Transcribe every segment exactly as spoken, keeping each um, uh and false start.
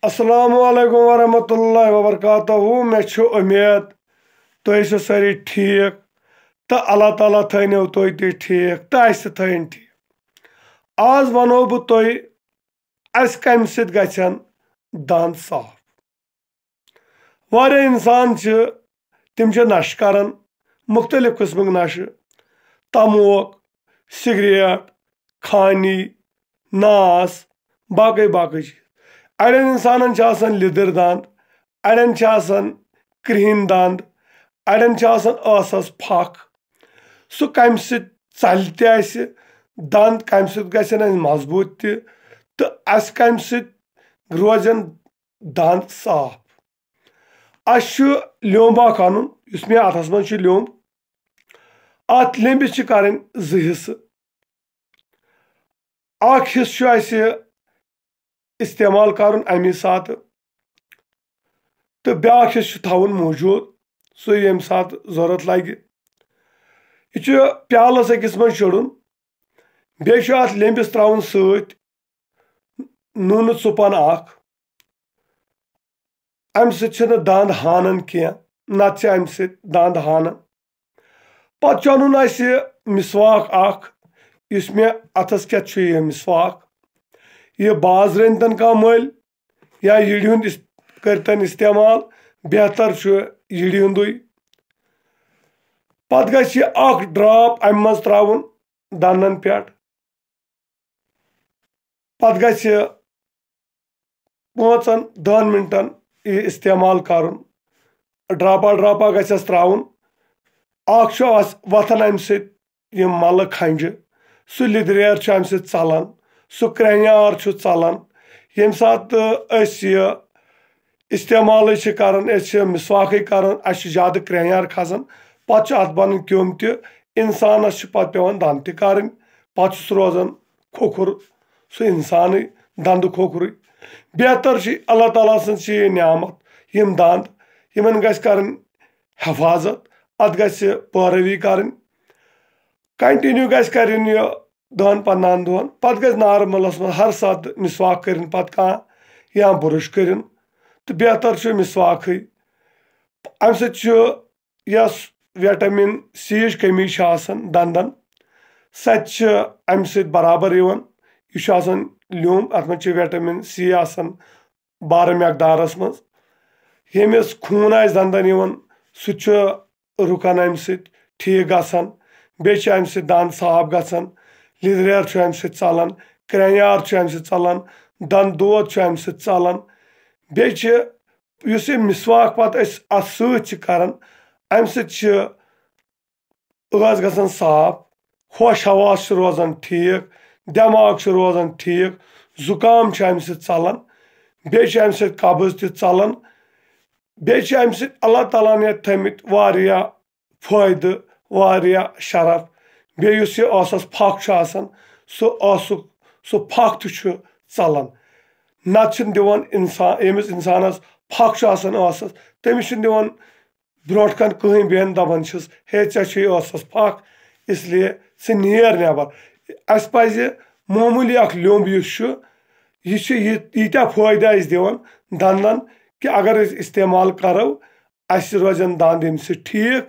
السلام علیکم ورحمۃ اللہ وبرکاتہ۔ مےٚ چھُ اُمید تُہۍ ٲسِو سٲری ٹھیٖک تہٕ اللہ تعالیٰ تھٲینو تُہۍ تہِ ٹھیٖک تہٕ اَسہِ تہِ تھٲیِن ٹھیٖک۔ آز وَنو بہٕ تۄہہِ، اَسہِ کَمہِ سۭتۍ گژھن دَنٛد صاف۔ واریاہ اِنسان چھِ، تِم چھِ نَشہٕ کَران، مُختٔلِف قٕسمٕکۍ نَشہٕ، تَموک، سِگریٹ، خانی، ناس، باقٕے باقٕے چیٖز۔ اَڑٮ۪ن اِنسانَن چھِ آسان لیٚدٕر دَنٛد، اَڑٮ۪ن چھِ آسان کرٛہِنۍ دَنٛد، اَڑٮ۪ن چھِ آسان ٲسَس پھَکھ۔ سُہ کَمہِ سۭتۍ ژَلہِ تہِ اَسہِ، دَنٛد کَمہِ سۭتۍ گژھن اَسہِ مضبوٗط تہِ، تہٕ اَسہِ کَمہِ سۭتۍ روزن دَنٛد صاف۔ اَسہِ چھُ لیوٚمب اَکھ اَنُن، یُس مےٚ اَتھَس منٛز چھُ لیوٚمب۔ اَتھ لیٚمبِس چھِ کَرٕنۍ زٕ حِصہٕ۔ اَکھ حِصہٕ چھُ اَسہِ استعمال کَرُن اَمی ساتہٕ، تہٕ بیٛاکھ حِصہٕ چھُ تھاوُن موٗجوٗد، سُہ ییٚمہِ ساتہٕ ضوٚرَتھ لَگہِ۔ یہِ چھُ پیالَس أکِس منٛز شیرُن۔ بیٚیہِ چھُ اَتھ لیٚمبِس ترٛاوُن سۭتۍ نوٗنہٕ ژُپَن اَکھ۔ اَمہِ سۭتۍ چھِنہٕ دَنٛد ہانان کینٛہہ، نَتہٕ چھِ اَمہِ سۭتۍ دَنٛد ہانان۔ پَتہٕ چھُ اَنُن اَسہِ مسواک اَکھ، یُس مےٚ اَتھَس کٮ۪تھ چھُ یہِ مسواک۔ یہِ بازرٕ أنۍتَن کانٛہہ مٔلۍ یا یِڑِ ہُنٛد اِس-، کٔرۍتَن استعمال، بہتر چھُ یِڑِ ہُنٛدُے۔ پَتہٕ گژھِ یہِ اَکھ drop اَمہِ منٛز ترٛاوُن دَنٛدَن پٮ۪ٹھ۔ پَتہٕ گژھِ پانٛژن دَہن مِنٹَن یہِ استعمال کَرُن۔ ڈراپا ڈراپا گژھٮ۪س ترٛاوُن۔ اَکھ چھُ اَس-، وۄتھان اَمہِ سۭتۍ یِم مَلہٕ کھنٛجہِ، سُہ لیٚدریر چھُ اَمہِ سۭتۍ ژَلان، سُہ کرٛٮ۪ہنیار چھُ ژَلان۔ ییٚمہِ ساتہٕ أسۍ یہِ استعمالٕے چھِ کَران، أسۍ چھِ مسواکٕے کَران، اَسہِ چھُ زیادٕ کرٛٮ۪ہنیار کھسان، پَتہٕ چھُ اَتھ بَنان کیوٚم تہِ، اِنسانَس چھُ پَتہٕ پٮ۪وان دَنٛد تہِ کَرٕنۍ، پَتہٕ چھُس روزان کھوکھُر سُہ اِنسانٕے، دَنٛدٕ کھوکھرُے۔ بہتر چھُ، اللہ تعالیٰ سٕنٛز چھِ یہِ نعمت، یِم دَنٛد، یِمَن گژھِ کَرٕنۍ حفاظت، اَتھ گژھِ پٲروی کَرٕنۍ، continue گژھِ کَرٕنۍ یہِ دَہَن پنٛدہَن دۄہَن۔ پَتہٕ گژھِ نارمَلَس منٛز ہر ساتہٕ مسواک کٔرِنۍ پَتہٕ کانٛہہ یا بُرُش کٔرِنۍ، تہٕ بہتر چھُ مسواکٕے۔ اَمہِ سۭتۍ چھُ یۄس ویٹامِن سی یِچ کٔمی چھِ آسان دَنٛدَن، سۄ تہِ چھِ اَمہِ سۭتۍ برابر یِوان۔ یہِ چھُ آسان لیوٚمب، اَتھ منٛز چھِ ویٹامِن سی آسان بارٕ مٮ۪قدارَس منٛز۔ ییٚمِس خوٗن آسہِ دَنٛدَن یِوان، سُہ تہِ چھُ رُکان اَمہِ سۭتۍ، ٹھیٖک گژھان۔ بیٚیہِ چھِ اَمہِ سۭتۍ دَنٛد صاف گژھان، لیٚدریر چھُ اَمہِ سۭتۍ ژَلان، کرٛٮ۪ہنیار چھُ اَمہِ سۭتۍ ژَلان، دَنٛد دود چھُ اَمہِ سۭتۍ ژَلان۔ بیٚیہِ چھِ یُس یہِ مسواک پَتہٕ أسۍ اَتھ سۭتۍ چھِ کَران، اَمہِ سۭتۍ چھِ ٲس گژھان صاف، ہوش حواس چھُ روزان ٹھیٖک، دٮ۪ماغ چھُ روزان ٹھیٖک، زُکام چھُ اَمہِ سۭتۍ ژَلان، بیٚیہِ چھُ اَمہِ سۭتۍ قبض تہِ ژَلان، بیٚیہِ چھِ اَمہِ سۭتۍ اللہ تعالیٰ ہَن یَتھ تھٲیمٕتۍ واریاہ فٲیدٕ، واریاہ شرف۔ بیٚیہِ یُس یہِ ٲسَس پھَکھ چھُ آسان، سُہ ٲسُک، سُہ پھَکھ تہِ چھُ ژَلان۔ نَتہٕ چھِنہٕ دِوان اِنسان، ییٚمِس اِنسانَس پھَکھ چھُ آسان ٲسَس، تٔمِس چھِنہٕ دِوان برونٛٹھ کَنہِ کٕہٕنۍ بیٚہن، دَپان چھِس، "ہے، ژےٚ چھُے ٲسَس پھَکھ، اس لیے ژٕ نیر نٮ۪بر۔" اَسہِ پَزِ معموٗلی اَکھ لیوٚمب یُس چھُ، یہِ چھُ یہِ، ییٖتیٛاہ فٲیدٕ اَسہِ دِوان دَنٛدَن کہِ اگر أسۍ استعمال کَرو، اَسہِ روزن دَنٛد اَمہِ سۭتۍ ٹھیٖک،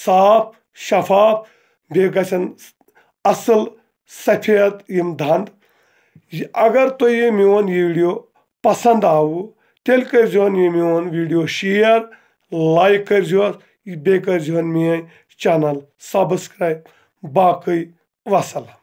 صاف، شفاف، بیٚیہِ گژھن اَصٕل سفید یِم دَنٛد۔ یہِ، اگر تۄہہِ یہِ میون یہِ video پسنٛد آوٕ، تیٚلہِ کٔرۍزِہون یہِ میون video share، like کٔرۍزِہوس، بیٚیہِ کٔرۍزِہون میٲنۍ channel subscribe۔ باقٕے وسلام۔